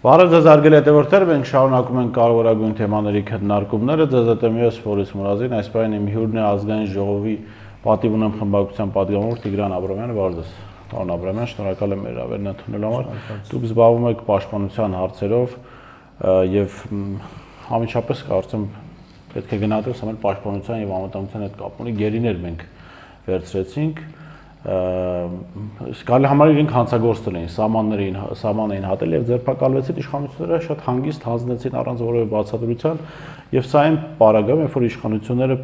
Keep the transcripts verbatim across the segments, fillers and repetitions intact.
Բարև ձեզ հարգելի հետևորդներ, մենք շարունակում ենք կարևորագույն թեմաների քննարկումները, ձեզ հետ եմ ես Ֆորիս Մուրազին, այս պահին իմ հյուրն է ազգային ժողովի պատիվ ունեմ խմբակցության պատգամավոր Տիգրան Աբրամյանը, բարև ձեզ։ Պարոն Աբրամյան, շնորհակալ եմ հրավերն ընդունելու համար։ Դուք զբաղվում եք պաշտպանության հարցերով եւ համիջապես կարծեմ պետք է գնահատենք ամեն պաշտպանության եւ անվտանգության հետ կապ ունի գերիներ մենք վերցրեցինք Սկալի համար իրենք հանցագործել էին, սահմաններին, սահման էին հատել եւ ձերբակալվեցին իշխանությունները շատ հանգիստ հանձնեցին առանց որևէ բացատրության եւ սա այն պարագայում, երբ որ իշխանությունները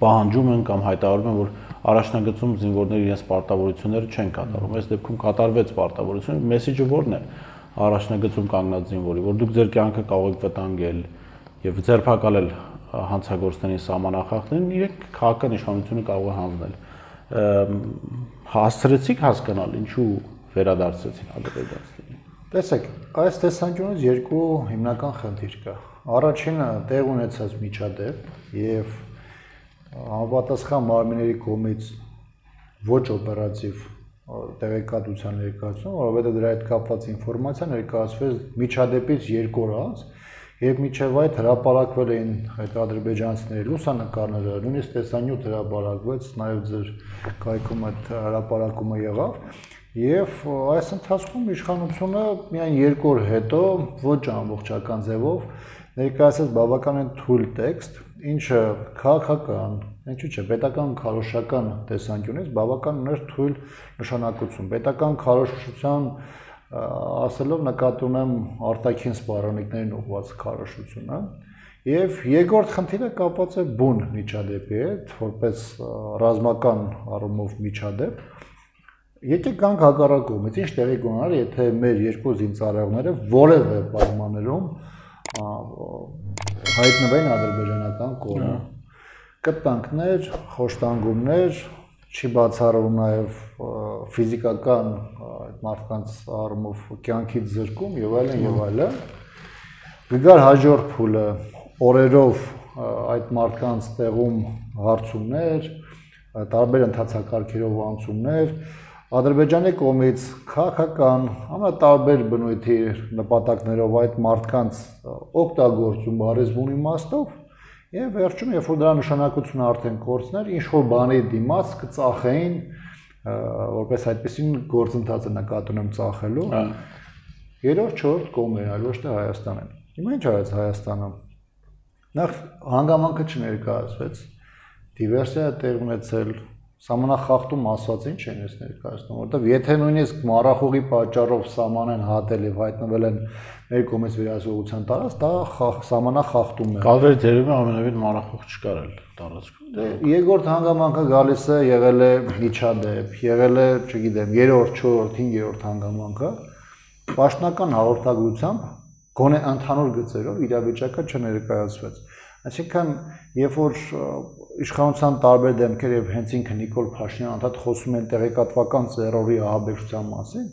պահանջում են կամ հայտարարում են, որ առաջնագծում զինվորները իրենց պարտավորությունները չեն կատարում։ Այս դեպքում կատարվեց պարտավորությունը, մեսեջը ո՞րն է առաջնագծում կանգնած զինվորի, որ դուք ձեր կյանքը կարող եք վտանգել եւ ձերբակալել հանցագործներին, սահմանախախտներին, իրենք քաղաքական իշխանությունը կարող է հանձնել։ Հասցրեցիք հասկանալ ինչու վերադարձեցին Ադրբեջանցիներին։ Տեսեք, այս տեսանկյունից երկու հիմնական խնդիր կա։ Առաջինը տեղ ունեցած միջադեպ եւ համապատասխան մարմինների կողմից ոչ օպերատիվ տեղեկատվության ներկայացում, որովհետեւ դրա հետ կապված ինֆորմացիա ներկայացվեց միջադեպից երկու օր անց, եւ միջև այդ հրապարակվել էին այդ ադրբեջանցիների լուսանկարները, նույնիսկ տեսանյութ հրապարակվեց, նաեւ ձեր կայքում այդ հրապարակումը եղավ, եւ այս ընթացքում իշխանությունը միայն երկու օր հետո ոչ ամբողջական ձևով ներկայացրեց բավականին թույլ տեքստ, ինչը քաղաքական, ինչու՞ չէ, պետական քարոզչական տեսանկյունից բավական ուներ թույլ նշանակություն։ Պետական քարոզչության ասելով նկատի ունեմ արտաքին սպառնալիքներին ուղղված քարոզությունը եւ երկրորդ խնդիրը կապված է բուն միջադեպի հետ, որպես ռազմական առումով միջադեպ։ Եկեք գանք հակառակ կողմից, ինչ տեղի կունենար, եթե մեր երկու զինծառայողները որևէ պայմաններում հայտնվեն ադրբեջանական կողմում։ Կտանքներ, խոշտանգումներ, չի բացառվում նաև ֆիզիկական այդ մարդկանց առումով կյանքից զրկում եւ այլն եւ այլն։ Գգար հաջորդ փուլը օրերով այդ մարդկանց տեղում հարցումներ, տարբեր ընթացակարգերով անցումներ, Ադրբեջանի կողմից քաղաքական ամենատարբեր բնույթի նպատակներով այդ մարդկանց օգտագործում բարեզբուն իմաստով եւ վերջում երբ որ դրա նշանակությունը արդեն կորցներ, ինչ որ բանի դիմաց կծախեին, որպես այդպեսին գործընթացը նկատի ունեմ ծախելու։ Երրորդ, չորրորդ կողմերն, այլ ոչ թե Հայաստանն։ Հիմա ինչ արեց Հայաստանը։ Նախ հանգամանքը չներկայացվեց, դիվերսիա տեղ ունեցել, սահմանախախտում ասած ինչ են ես ներկայացնում, որովհետեւ եթե նույնիսկ մառախուղի պատճառով սահման են հատել եւ հայտնվել են մեր կողմից վերահսկողության տարած, դա սահմանախախտում է։ Կադրի դերում ամենևին մառախուղ չկար էլ տարածքում։ Երկրորդ հանգամանքը գալիս է եղել է միջադեպ, եղել է, չգիտեմ, երրորդ, չորրորդ, հինգերորդ հանգամանքը, պաշտոնական հաղորդագրությամբ գոնե ընդհանուր գծերով իրավիճակը չներկայացվեց։ Այսինքն, երբ որ իշխանության տարբեր դեմքեր եւ հենց ինքը Նիկոլ Փաշինյանը անդադ խոսում են տեղեկատվական ծերորի ահաբեկչության մասին,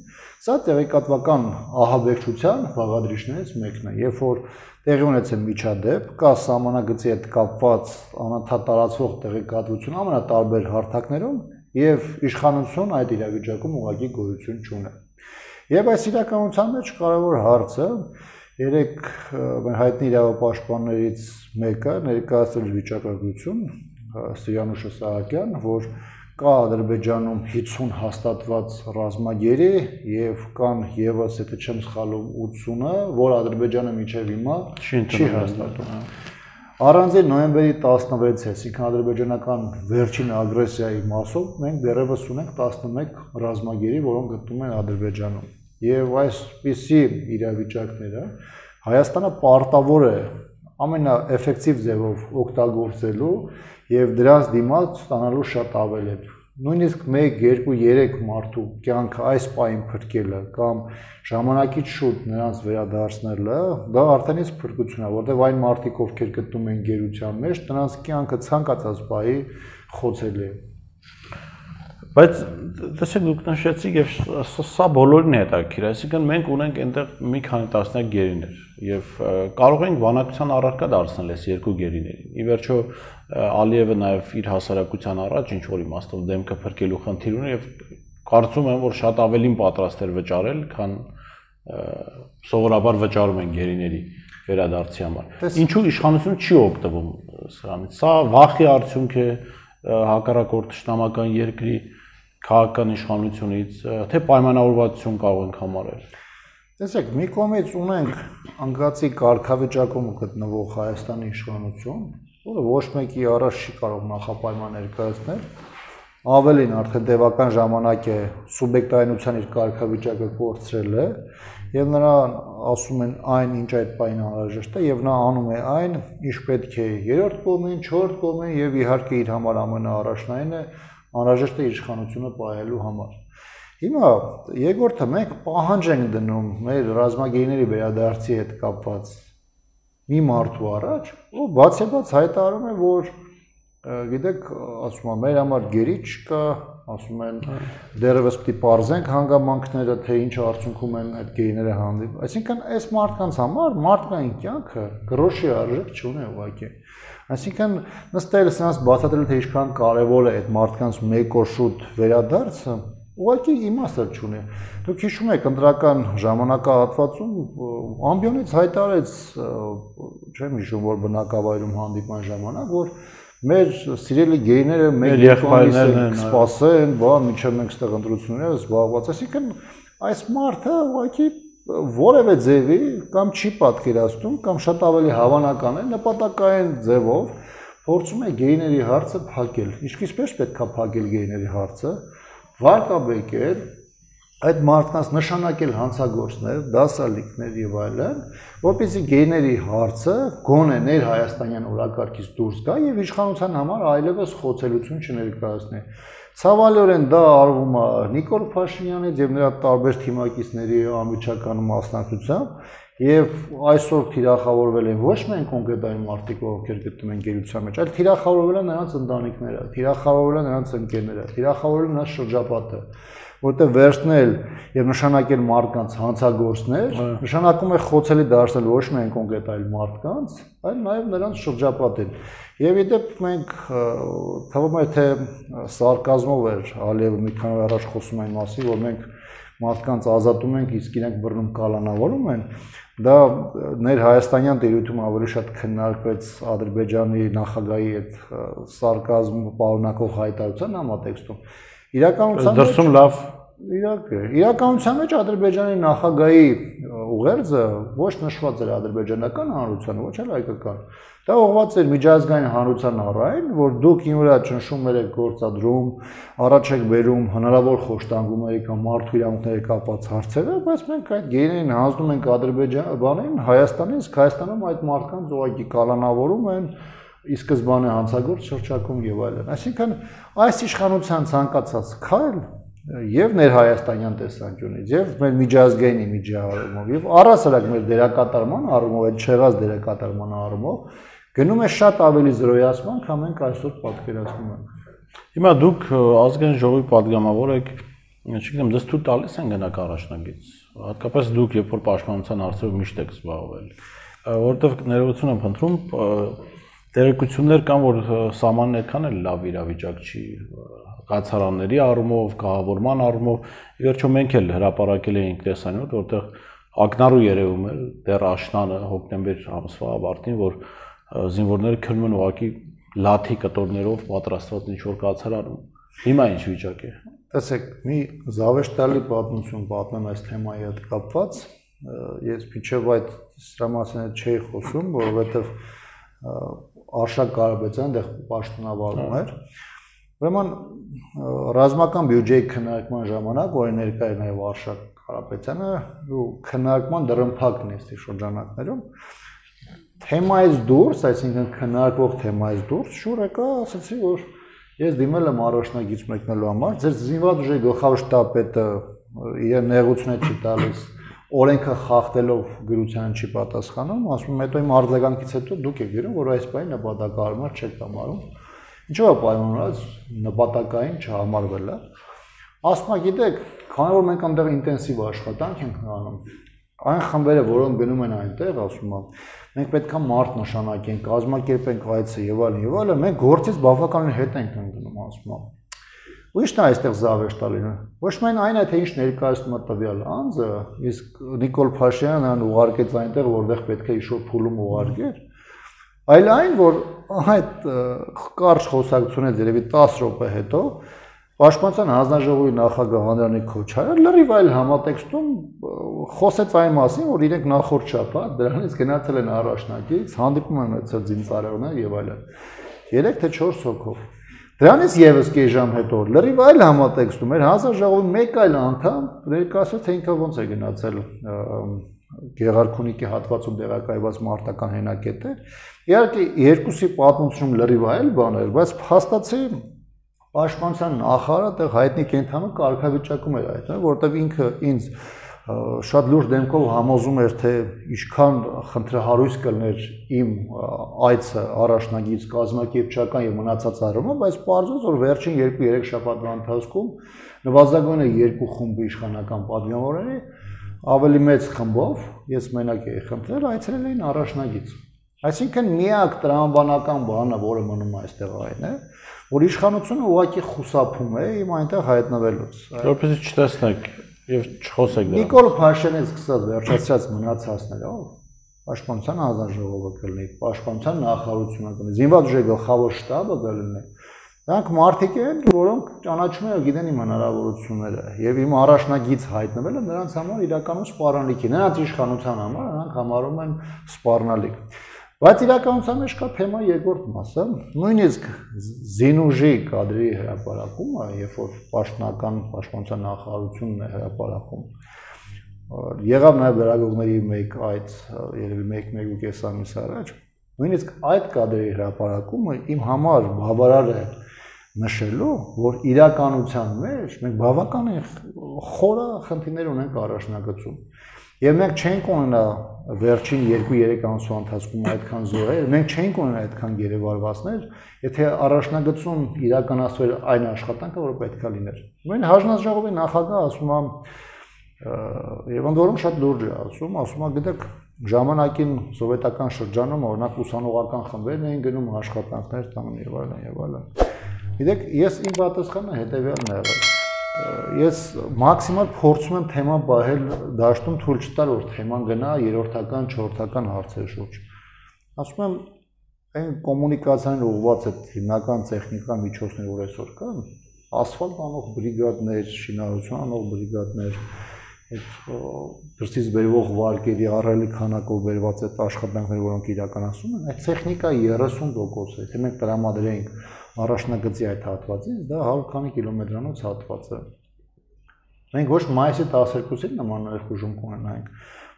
սա տեղեկատվական ահաբեկչության բաղադրիչներից մեկն է, երբ որ տեղի ունեցել միջադեպ, կա սահմանագծի հետ կապված անընդհատ տարածվող տեղեկատվություն ամենատարբեր հարթակներում եւ իշխանություն այդ իրավիճակում ուղղակի գոյություն չունի։ Եւ այս իրականության մեջ կարևոր հարցը երեք մեր հայտնի իրավապաշտպաններից մեկը ներկայացրել վիճակագրություն Սիրանուշ Սահակյան, որ կա Ադրբեջանում հիսուն հաստատված ռազմագերի եւ կան եւս, եթե չեմ սխալվում, ութսունը, որ Ադրբեջանը մինչեւ հիմա չի հաստատում։ Առանձին նոյեմբերի տասնվեցը, այսինքն ադրբեջանական վերջին ագրեսիայի մասով մենք դեռևս ունենք տասնմեկ ռազմագերի, որոնք գտնվում են Ադրբեջանում։ Եվ այսպիսի իրավիճակները Հայաստանը պարտավոր է ամենաէֆեկտիվ ձևով օգտագործելու եւ դրանց դիմաց ստանալու շատ ավել է։ Նույնիսկ մեկ, երկու, երեք մարդու կյանքը այս պահին փրկելը կամ ժամանակից շուտ նրանց վերադարձնելը, դա արդեն իսկ փրկություն է, որտեղ այն մարդիկ, ովքեր գտնվում են գերության մեջ, նրանց կյանքը ցանկացած պահի խոցելի է։ Բայց տեսեք դուք նշեցիք եւ սա բոլորին է հետաքրքիր, այսինքն մենք ունենք այնտեղ մի քանի տասնյակ գերիներ եւ կարող ենք բանակցության առարկա դարձնել այս երկու գերիներին։ Ի վերջո Ալիևը նաեւ իր հասարակության առաջ ինչ որ իմաստով դեմքը փրկելու խնդիր ունի եւ կարծում եմ որ շատ ավելին պատրաստ էր վճարել, քան սովորաբար վճարում են գերիների վերադարձի համար։ Ինչու իշխանությունը չի օգտվում սրանից։ Սա վախի արդյունք է հակառակորդ ճշտամական երկրի քաղաքական իշխանությունից, թե պայմանավորվածություն կարող ենք համարել։ Տեսեք, մի կողմից ունենք անկացի կարգավիճակում գտնվող Հայաստանի իշխանություն, որը ոչ մեկի առաջ չի կարող նախապայման ներկայացնել, ավելին արդեն տևական ժամանակ է սուբյեկտայնության իր կարգավիճակը կորցրել է, եւ նրան ասում են այն, ինչ այդ պայն անհրաժեշտ է, եւ նա անում է այն, ինչ պետք է երրորդ կողմին, չորրորդ կողմին եւ իհարկե իր համար ամենաառաջնայինն է անհրաժեշտ է իշխանությունը պահելու համար։ Հիմա երկրորդը մենք պահանջ ենք դնում մեր ռազմագերիների վերադարձի հետ կապված մի մարդու առաջ, ու բացեբաց հայտարարում է, որ գիտեք, ասում եմ, մեր համար գերի չկա, ասում են դեռևս պիտի պարզենք հանգամանքները, թե ինչ արդյունքում են այդ գերիները հանդիպում։ Այսինքն այս մարդկանց համար մարդկային կյանքը գրոշի արժեք չունի ուղղակի։ Այսինքն նստել սրանց բացատրել, թե ինչքան կարևոր է այդ մարդկանց մեկ օր շուտ վերադարձը, ուղղակի իմաստը չունի։ Դուք հիշում եք ընտրական ժամանակահատվածում ամբիոնից հայտարարեց, չեմ հիշում, որ բնակավայրում հանդիպման ժամանակ, որ մեր սիրելի գերիները մեր եղբայրներն սպասեն, բա մինչև մենք ստեղ ընտրությունները զբաղված։ Այսինքն այս մարդը ուղղակի որևէ ձևի կամ չի պատկերացնում, կամ շատ ավելի հավանական է նպատակային ձևով փորձում է գերիների հարցը փակել։ Ինչպես պետք է փակել գերիների հարցը, վարկաբեկել այդ մարդկանց նշանակել հանցագործներ, դասալիկներ եւ այլն, որպեսզի գերիների հարցը գոնե ներ հայաստանյան օրակարգից դուրս գա եւ իշխանության համար այլևս խոցելություն չներկայացնի։ Ցավալիորեն դա արվում է Նիկոլ Փաշինյանից եւ նրա տարբեր թիմակիցների անմիջական մասնակցությամբ եւ այսօր թիրախավորվել են ոչ միայն կոնկրետ այն մարդիկ, ովքեր գտնվում են գերության մեջ, այլ թիրախավորվել են նրանց ընտանիքները, թիրախավորվել են նրանց ընկերները, թիրախավորվել են նրանց շրջապատը, որտեղ վերցնել եւ նշանակել մարդկանց հանցագործներ, նշանակում է խոցելի դարձնել ոչ միայն կոնկրետ այլ մարդկանց, այլ նաեւ նրանց շրջապատին։ Եվ իդեպ մենք թվում է թե սարկազմով էր Ալիևը մի քանի օր առաջ խոսում այն մասին, որ մենք մարդկանց ազատում ենք, իսկ իրենք բռնում կալանավորում են, դա ներ հայաստանյան տերությունում ավելի շատ քննարկվեց Ադրբեջանի նախագահի այդ սարկազմ պարունակող հայտարարության համատեքստում։ Իրականության մեջ դրսում լավ իրաք է։ Իրականության մեջ Ադրբեջանի նախագահի ուղերձը ոչ նշված էր ադրբեջանական հանրությանը, ոչ էլ հայկական։ Դա ուղղված էր միջազգային հանրության առայն, որ դուք ինուրա ճնշումներ եք գործադրում, առաջ եք բերում հնարավոր խոշտանգումների կամ մարդու իրավունքների կապված հարցերը, բայց մենք այդ գերիներին հանձնում ենք Ադրբեջանին, Հայաստանին, իսկ Հայաստանում այդ մարդկանց ուղղակի կալանավորում են, ի սկզբանե հանցագործ շրջակում եւ այլն։ Այսինքն այս իշխանության ցանկացած քայլ եւ ներհայաստանյան տեսանկյունից եւ մեր միջազգային իմիջի առումով եւ առասարակ մեր դերակատարման առումով, այդ չեղած դերակատարման առումով գնում է շատ ավելի զրոյացման, քան մենք այսօր պատկերացնում ենք։ Հիմա դուք ազգային ժողովի падգամավոր եք, չգիտեմ, դες թույլ տալիս են գնաք առաջնագից, հատկապես դուք երբ որ պաշտպանության հարցերով միշտ եք զբաղվել, որովհետեւ ներողություն եմ խնդրում, տեղեկություններ կան, որ սահմանն այդքան էլ լավ իրավիճակ չի կացարանների առումով, կահավորման առումով, ի վերջո մենք էլ հրապարակել էինք տեսանյութ, որտեղ ակնառու երևում էր դեռ աշնանը հոկտեմբեր ամսվա ավարտին, որ զինվորները քնում են ուղղակի լաթի կտորներով պատրաստված ինչ-որ կացարանում։ Հիմա ինչ վիճակ է։ Տեսեք, մի զավեշտալի պատմություն պատմեմ այս թեմայի հետ կապված։ Ես մինչև այդ սրա մասին չէի խոսում, որովհետև Արշակ Կարապետյանը դեռ պաշտոնավարում էր։ Ուրեմն ռազմական բյուջեի քննարկման ժամանակ, որի ներկա է նաև Արշակ Կարապետյանը, ու քննարկման դռնփակն է շրջանակներում, թեմայից դուրս, այսինքն քննարկվող թեմայից դուրս, շուր եկա, ասացի, որ ես դիմել եմ առաջնագից մեկնելու համար, ձեր զինված ուժերի գլխավոր շտաբը իր նեղությունը չի տալիս, օրենքը խախտելով գրության չի պատասխանում, ասում եմ, հետո իմ արձագանքից հետո դուք եք գրում, որ այս բանը նպատակահարմար չեք համարում։ Ինչու է պայմանավորված նպատակային չհամարվելը։ Ասում եք, գիտեք, քանի որ մենք այնտեղ ինտենսիվ աշխատանք ենք անում, այն խմբերը, որոնք գնում են այնտեղ, ասում եմ, մենք պետք է մարդ նշանակենք, կազմակերպենք այցը եւ այլն եւ այլն, մենք գործից բավականին հետ ենք ընկնում, ասում եմ։ Ուրիշն է այստեղ զավեշտա լինում։ Ոչ միայն այն է, թե ինչ ներկայացնում է տվյալ անձը, իսկ Նիկոլ Փաշինյանն այն ուղարկեց այնտեղ, որտեղ պետք է ինչ-որ փուլում ուղարկեր, այլ այն, որ այդ կարճ խոսակցությունից երևի տասը րոպե հետո Պաշտպանության հանձնաժողովի նախագահ Անդրանիկ Քոչարյանը լրիվ այլ համատեքստում խոսեց այն մասին, որ իրենք նախորդ շաբաթ դրանից գնացել են առաջնակից, հանդիպում են ունեցել զինծառայողներ եւ այլն։ երեք թե չորս հոգով։ Դրանից եւս կես ժամ հետո լրիվ այլ համատեքստում էր հանձնաժողովի մեկ այլ անդամ ներկայացրեց, թե ինքը ոնց է գնացել Գեղարքունիքի հատվածում տեղակայված մարտական հենակետեր։ Իհարկե երկուսի պատմությունում լրիվ այլ բան էր, բայց փաստացի Պաշտպանության նախարարը տեղ հայտնի կենթանու կարգավիճակում էր այդ, որտեղ ինքը ինձ շատ լուրջ դեմքով համոզում էր, թե ինչքան խնդրահարույց կլներ իմ այցը առաջնագից կազմակերպչական եւ մնացած առումով, բայց պարզվեց, որ վերջին երկու-երեք շաբաթվա ընթացքում նվազագույնը երկու խումբի իշխանական պատգամավորների ավելի մեծ խմբով, ես մենակ էի խնդրել, այցելել էին առաջնագից։ Այսինքն միակ տրամաբանական բանը, որը մնում է այստեղ այն է, որ իշխանությունը ուղղակի խուսափում է իմ այնտեղ հայտնվելուց։ Որպեսզի չտեսնեք եւ չխոսեք դրանից։ Նիկոլ Փաշինյանից սկսած վերջացած մնացածներով Պաշտպանության հանձնաժողովը կլինի, Պաշտպանության նախարարությունը կլինի, զինված ուժերի գլխավոր շտաբը կլինի։ Դրանք մարդիկ են, որոնք ճանաչում են ու գիտեն իմ հնարավորությունները եւ իմ առաջնագից հայտնվելը նրանց համար իրականում սպառնալիք է։ Նրանց իշխանության համար նրանք համարում են սպառնալիք։ Բայց իրականության մեջ կա թեմա երկրորդ մասը, նույնիսկ զինուժի կադրի հրապարակումը, երբ որ պաշտոնական պաշտպանության նախարարությունն է հրապարակում, եղավ նաև լրագրողների մեկ այդ երևի մեկ-մեկ ու կես ամիս առաջ, նույնիսկ այդ կադրի հրապարակումը իմ համար բավարար է նշելու, որ իրականության մեջ մենք բավական խորը խնդիրներ ունենք առաջնագծում։ Եվ մենք չենք ունենա վերջին երկու-երեք ամսվա ընթացքում այդքան զոհեր, մենք չենք ունենա այդքան գերեվարվածներ, եթե առաջնագծում իրականացվեր այն աշխատանքը, որը պետք է լիներ։ Նույն հանձնաժողովի նախագահը ասում է, եւ ընդ որում շատ լուրջ է ասում, ասում է, գիտեք, ժամանակին սովետական շրջանում օրինակ ուսանողական խմբերն էին գնում աշխատանքներ տանում եւ այլն եւ այլն։ Գիտեք, ես իմ պատասխանը հետեւյալն է եղել։ Ես մաքսիմալ փորձում եմ թեման բահել դաշտում թույլ չտալ, որ թեման գնա երրորդական, չորրորդական հարցերի շուրջ։ Ասում եմ, այն կոմունիկացիան ուղղված է հիմնական տեխնիկական միջոցներ, որ այսօր կան, ասֆալտ անող բրիգադներ, շինարարություն անող բրիգադներ, այդ դրսից բերվող վարկերի առելի քանակով բերված այդ աշխատանքները, որոնք իրականացում են, այդ տեխնիկայի երեսուն տոկոս է, թե մենք տրամադրենք առաջնագծի այդ հատվածից, դա հարյուր քանի կիլոմետրանոց հատված է։ Մենք ոչ մայիսի տասներկուսին նման ներխուժում կունենայինք,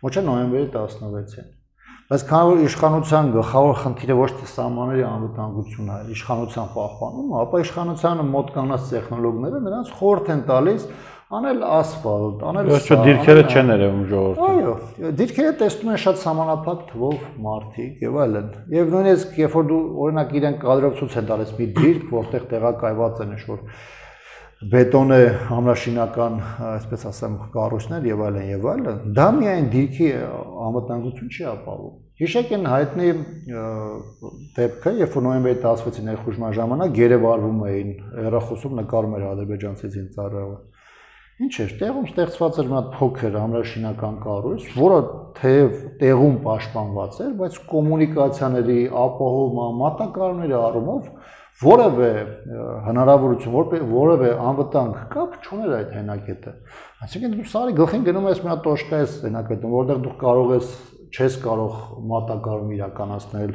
ոչ է նոյեմբերի տասնվեցին։ Բայց քանի որ իշխանության գլխավոր խնդիրը ոչ թե սահմանների անվտանգությունն է, իշխանության պահպանումը, ապա իշխանությանը մոտ կանած տեխնոլոգները նրանց խորհուրդ են տալիս անել ասֆալտ, անել Ոչ դիրքերը չեն երևում ժողովրդին։ Այո, դիրքերը տեսնում են շատ սահմանափակ թվով մարդիկ եւ այլն։ Եվ նույնիսկ երբ որ դու օրինակ իրեն կադրով ցույց են տալիս մի դիրք, որտեղ տեղակայված են ինչ-որ բետոնե համրաշինական, այսպես ասեմ, կառույցներ եւ այլն եւ այլն, դա միայն դիրքի անվտանգություն չի ապահովում։ Հիշեք են հայտնի դեպքը, երբ որ նոյեմբերի տասնվեցի ներխուժման ժամանակ գերեվարվում էին հեռախոսում նկարում էր ադրբեջանցի զինծառայողը։ Ինչ էր, տեղում ստեղծված էր մի հատ փոքր համրաշինական կառույց, որը թեև տեղում պաշտպանված էր, բայց կոմունիկացիաների, ապահովման, մատակարարների առումով որևէ հնարավորություն, որևէ անվտանգ կապ չուներ այդ հենակետը։ Այսինքն դու սարի գլխին գնում ես մի հատ տոշկա ես հենակետում, որտեղ դու կարող ես չես կարող մատակարարում իրականացնել,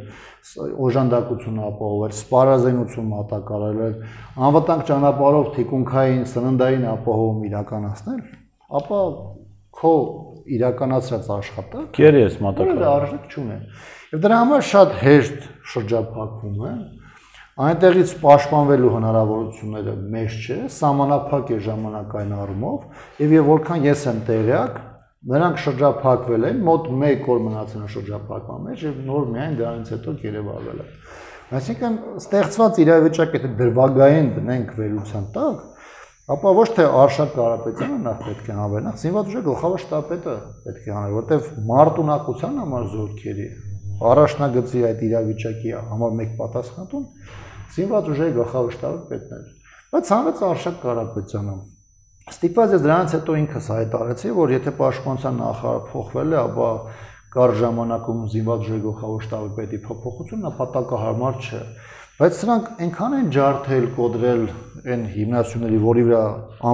օժանդակություն ապահովել, սպառազինություն մատակարարել, անվտանգ ճանապարհով թիկունքային սննդային ապահովում իրականացնել, ապա քո իրականացրած աշխատանքը Գերի ես մատակարարել։ Արժեք չունի։ Եվ դրա համար շատ հեշտ շրջափակվում է, այնտեղից պաշտպանվելու հնարավորությունները մեծ չէ, սահմանափակ է ժամանակային առումով, եւ եւ որքան ես եմ տեղյակ, նրանք շրջափակվել են, մոտ մեկ օր մնացել են շրջափակման մեջ եւ նոր միայն դրանից հետո գերեվարվել են։ Այսինքն ստեղծված իրավիճակը եթե դրվագային դնենք վերության տակ, ապա ոչ թե Արշակ Կարապետյանը նախ պետք է հանվի, նախ զինված ուժի գլխավոր շտաբը պետք է հանվի, որտեվ մարտունակության համար զորքերի առաջնագծի այդ իրավիճակի համար մեկ պատասխանատուն զինված ուժի գլխավոր շտաբը պետք է։ Բայց հանրեց Արշակ Կարապետյանը։ Ստիպված ես դրանից հետո ինքս հայտարարեցի, որ եթե պաշտպանության նախարար փոխվել է, ապա կար ժամանակում զինված ուժերի գլխավոր շտաբի պետի փոփոխությունը նպատակահարմար չէ։ Բայց սրանք այնքան են ջարդել, կոդրել այն հիմնասյուների, որի վրա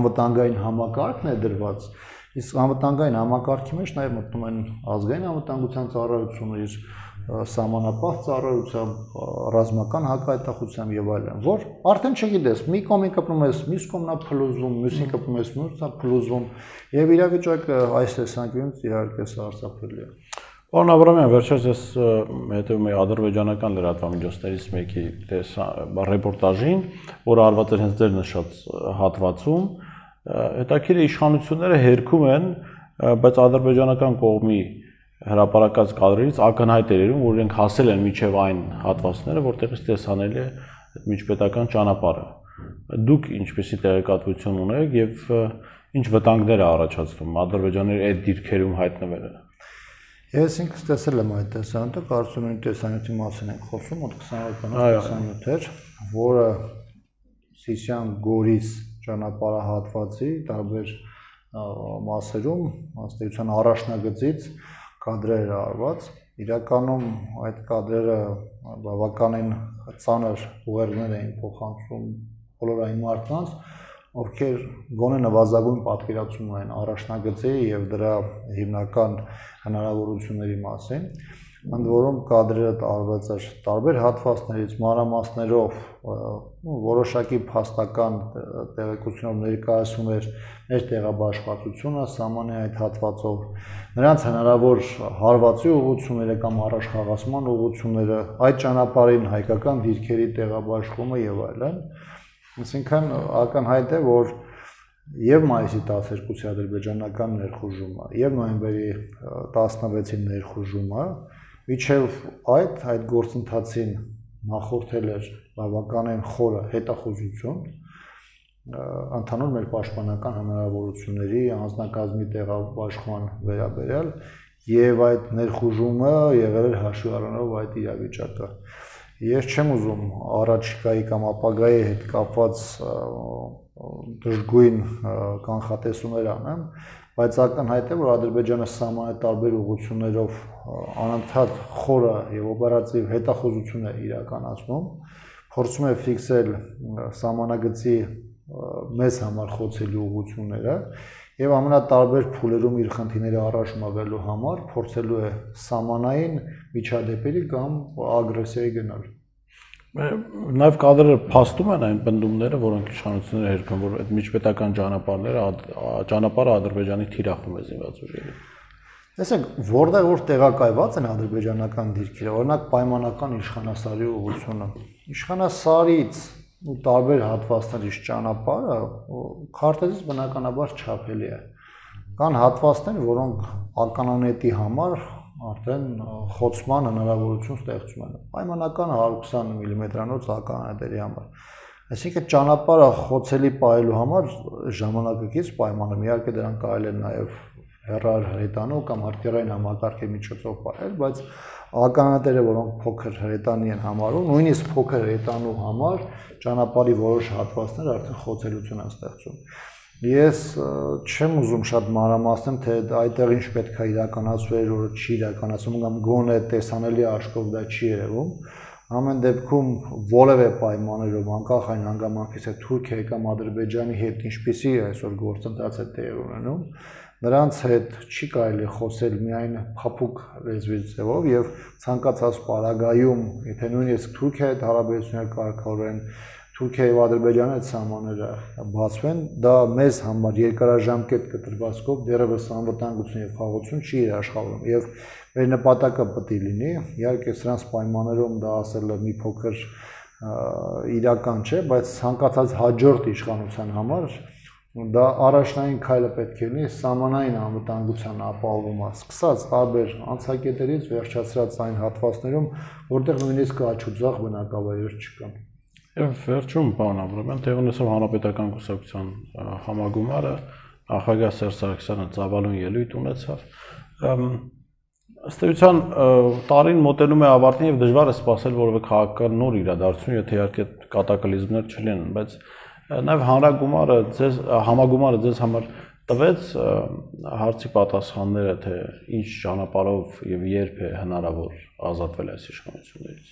անվտանգային համակարգն է դրված, իսկ անվտանգային համակարգի մեջ նաև մտնում են ազգային անվտանգության ծառայությունը, իր սահմանապահ ծառայությամբ, ռազմական հակահայտախությամբ եւ այլն, որ արդեն չգիտես, մի կողմին կպնում ես, մյուս կողմն է փլուզվում, մյուսին կպնում ես, մյուսն է փլուզվում, եւ իրավիճակը այս տեսանկյունից իհարկե սարսափելի է։ Պարոն Աբրամյան, վերջերս ես հետևում եի ադրբեջանական լրատվամիջոցներից մեկի ռեպորտաժին, որը արված էր հենց ձեր նշած հատվածում, հետաքրքիր է իշխանությունները հերքում են, բայց ադրբեջանական կողմի հրապարակած կադրերից ակնհայտ էր երևում, որ իրենք հասել են մինչև այն հատվածները, որտեղից տեսանելի է միջպետական ճանապարհը։ Դուք ինչպեսի տեղեկատվություն ունեք եւ ինչ վտանգներ է առաջացնում Ադրբեջանի այդ դիրքերում հայտնվելը։ Ես ինքս տեսել եմ այդ տեսանյութը, կարծում եմ տեսանյութի մասին ենք խոսում, մոտ քսաներկու տեսանյութ էր, որը Սիսիան Գորիս ճանապարհահատվածի տարբեր մասերում, ըստ առաջնագծից կադրեր արված, իրականում այդ կադրերը բավականին ծանր ուղերձներ էին փոխանցում բոլոր այն մարդկանց, ովքեր գոնե նվազագույն պատկերացում ունեն առաջնագծի եւ դրա հիմնական հնարավորությունների մասին, ընդ որում կադրերը տարված էր տարբեր հատվածներից, մանրամասներով, որոշակի փաստական տեղեկությունով ներկայացում էր մեր տեղաբաշխվածությունը սահմանի այդ հատվածով, նրանց հնարավոր հարվածի ուղղությունները կամ առաջխաղացման ուղղությունները, այդ ճանապարհին հայկական դիրքերի տեղաբաշխումը եւ այլն, այսինքն ակնհայտ է, որ եւ մայիսի տասներկուսի ադրբեջանական ներխուժումը եւ նոյեմբերի տասնվեցի ներխուժումը միջև այդ այդ գործընթացին նախորդել էր բավականին խորը հետախուզություն ընդհանուր մեր պաշտպանական հնարավորությունների անձնակազմի տեղաբաշխման վերաբերյալ եւ այդ ներխուժումը եղել էր հաշվի առնելով այդ իրավիճակը։ Ես չեմ ուզում առաջիկայի կամ ապագայի հետ կապված դժգույն կանխատեսումներ անեմ, բայց ակնհայտ է, որ Ադրբեջանը սահմանի տարբեր ուղղություններով անընդհատ խորը եւ օպերատիվ հետախուզություն է իրականացնում, փորձում է ֆիքսել սահմանագծի մեզ համար խոցելի ուղղությունները եւ ամենատարբեր փուլերում իր խնդիրները առաջ մղելու համար փորձելու է սահմանային միջադեպերի կամ ագրեսիայի գնալ։ Նաև կադրերը փաստում են այն բնդումները, որոնք իշխանությունները հերքում, որ այդ միջպետական ճանապարհները ճանապարհը Ադրբեջանի թիրախում է զինված ուժերի։ Տեսեք, որտեղ որ տեղակայված են ադրբեջանական դիրքերը, օրինակ պայմանական իշխանասարի ուղղությունը, իշխանասարից ու տարբեր հատվածներից ճանապարհը քարտեզից բնականաբար չափելի է։ Կան հատվածներ, որոնք ականանետի համար արդեն խոցման հնարավորություն ստեղծում են։ Պայմանական հարյուր քսան միլիմետրանոց ականանետերի համար։ Այսինքն ճանապարհը խոցելի պահելու համար ժամանակակից պայմանը իհարկե դրան կարելի է նաև հեռար հրետանու կամ արտերային համակարգի միջոցով պահել, բայց ականանետերը, որոնք փոքր հրետանի են համարում, նույնիսկ փոքր հրետանու համար ճանապարհի որոշ հատվածներ արդեն խոցելություն են ստեղծում։ Ես չեմ ուզում շատ մանրամասնեմ, թե այդտեղ ինչ պետք է իրականացվեր, որը չի իրականացվում կամ գոնե տեսանելի աշխով դա չի երևում։ Ամեն դեպքում որևէ պայմաններով անկախ այն հանգամանքից, թե Թուրքիայի կամ Ադրբեջանի հետ ինչպիսի այսօր գործընթաց է տեղի ունենում, նրանց հետ չի կարելի խոսել միայն փափուկ լեզվի ձևով եւ ցանկացած պարագայում, եթե նույնիսկ Թուրքիայի հետ հարաբերություններ կարգավորեն, Թուրքիայի եւ Ադրբեջանի հետ սահմանները բացվեն, դա մեզ համար երկարաժամկետ կտրվածքով դեռևս անվտանգություն եւ խաղաղություն չի երաշխավորում եւ մեր նպատակը պետք է լինի, իհարկե սրանց պայմաններում դա ասելը մի փոքր իրական չէ, բայց ցանկացած հաջորդ իշխանության համար դա առաջնային քայլը պետք է լինի սահմանային անվտանգության ապահովումը, սկսած տարբեր անցակետերից վերջացրած այն հատվածներում, որտեղ նույնիսկ աչուձախ բնակավայրեր չկան։ Եվ վերջում, պարոն Աբրամյան, տեղի ունեցավ հանրապետական կուսակցության համագումարը, նախագահ Սերժ Սարգսյանը ծավալուն ելույթ ունեցավ։ Ըստ էության տարին մոտենում է ավարտին եւ դժվար է սպասել որևէ քաղաքական նոր իրադարձություն, եթե իհարկե կատակլիզմներ չլինեն, բայց Նաև հանրագումարը ձեզ համագումարը ձեզ համար տվեց հարցի պատասխանները, թե ինչ ճանապարհով եւ երբ է հնարավոր ազատվել այս իշխանություններից։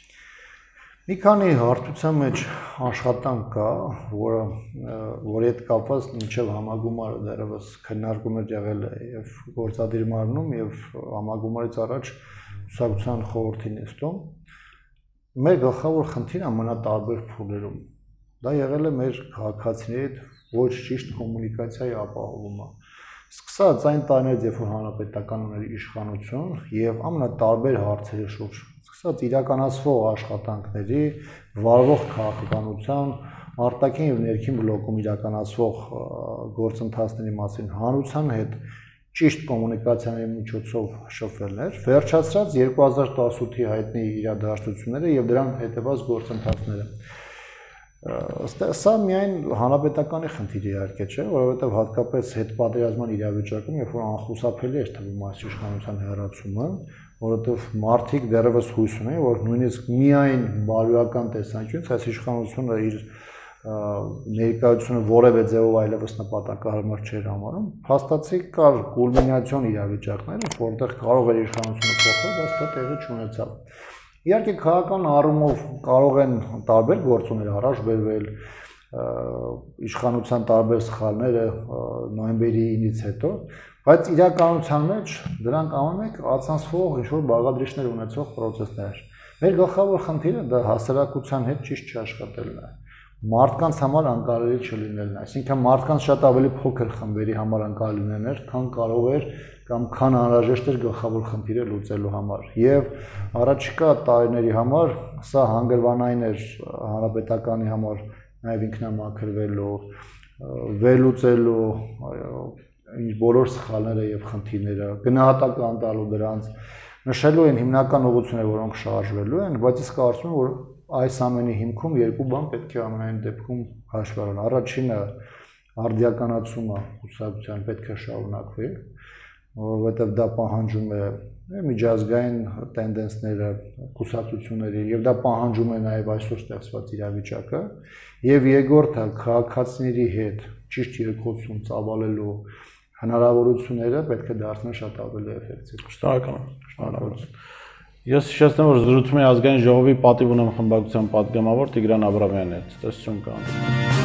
Մի քանի հարթության մեջ աշխատանք կա, որը որի հետ կապված մինչև համագումարը դեռևս քննարկումներ եղել է եւ գործադիր մարմնում եւ համագումարից առաջ ուսակցության խորհրդի նիստում։ Մեր գլխավոր խնդիրը ամենատարբեր փուլերում դա եղել է մեր քաղաքացիների հետ ոչ ճիշտ կոմունիկացիայի ապահովումը։ Սկսած այն տարիներից, երբ որ հանրապետական ուներ իշխանություն եւ ամենատարբեր հարցերի շուրջ, սկսած իրականացվող աշխատանքների, վարվող քաղաքականության, արտաքին եւ ներքին բլոկում իրականացվող գործընթացների մասին հանրության հետ ճիշտ կոմունիկացիաների միջոցով շփվելներ, վերջացրած երկու հազար տասութի հայտնի իրադարձությունները եւ դրան հետեւած գործընթացները։ Սա միայն հանրապետականի խնդիր իհարկե չէ, որովհետև հատկապես հետպատերազմյան իրավիճակում, երբ որ անխուսափելի էր թվում այս իշխանության հեռացումը, որովհետև մարդիկ դեռևս հույս ունեն, որ նույնիսկ միայն բարոյական տեսանկյունից այս իշխանությունը իր ներկայությունը որևէ ձևով այլևս նպատակահարմար չէր համարում, փաստացի կար կուլմինացիոն իրավիճակներ, որտեղ կարող էր իշխանությունը փոխվել, բայց դա տեղի չունեցավ։ Իհարկե քաղաքական առումով կարող են տարբեր գործոններ առաջ բերվել, իշխանության տարբեր սխալները նոյեմբերի ինից հետո, բայց իրականության մեջ դրանք ամենեք ացանցվող ինչ-որ բաղադրիչներ ունեցող պրոցեսներ։ Մեր գլխավոր խնդիրը դա հասարակության հետ ճիշտ չաշխատելն է, մարդկանց համար անկարելի չլինելն է, այսինքն մարդկանց շատ ավելի փոքր խմբերի համար անկարելի լինելն էր, քան կարող էր կամ քան անհրաժեշտ էր գլխավոր խնդիրը լուծելու համար։ Եվ առաջիկա տարիների համար սա հանգրվանային էր հանրապետականի համար նաև ինքնամաքրվելու, վերլուծելու բոլոր սխալները եւ խնդիրները, գնահատական տալու դրանց, նշելու են հիմնական ուղղությունները, որոնք շարժվելու են, բայց ես կարծում եմ, որ այս ամենի հիմքում երկու բան պետք է ամենայն դեպքում հաշվի առնել։ Առաջինը արդիականացումը կուսակցության պետք է շարունակվի, որովհետև դա պահանջում է միջազգային տենդենսները, կուսակցությունների եւ դա պահանջում է նաեւ այսօր ստեղծված իրավիճակը, եւ երկրորդը քաղաքացիների հետ ճիշտ երկխոսություն ծավալելու հնարավորությունները պետք է դարձնեն շատ ավելի էֆեկտիվ։ Շնորհակալ եմ, շնորհակալություն։ Ես հիշեցնեմ, որ զրուցում եմ ազգային ժողովի պատիվ ունեմ խմբակցության պատգամավոր Տիգրան Աբրամյանի հետ։ Տեսություն կան։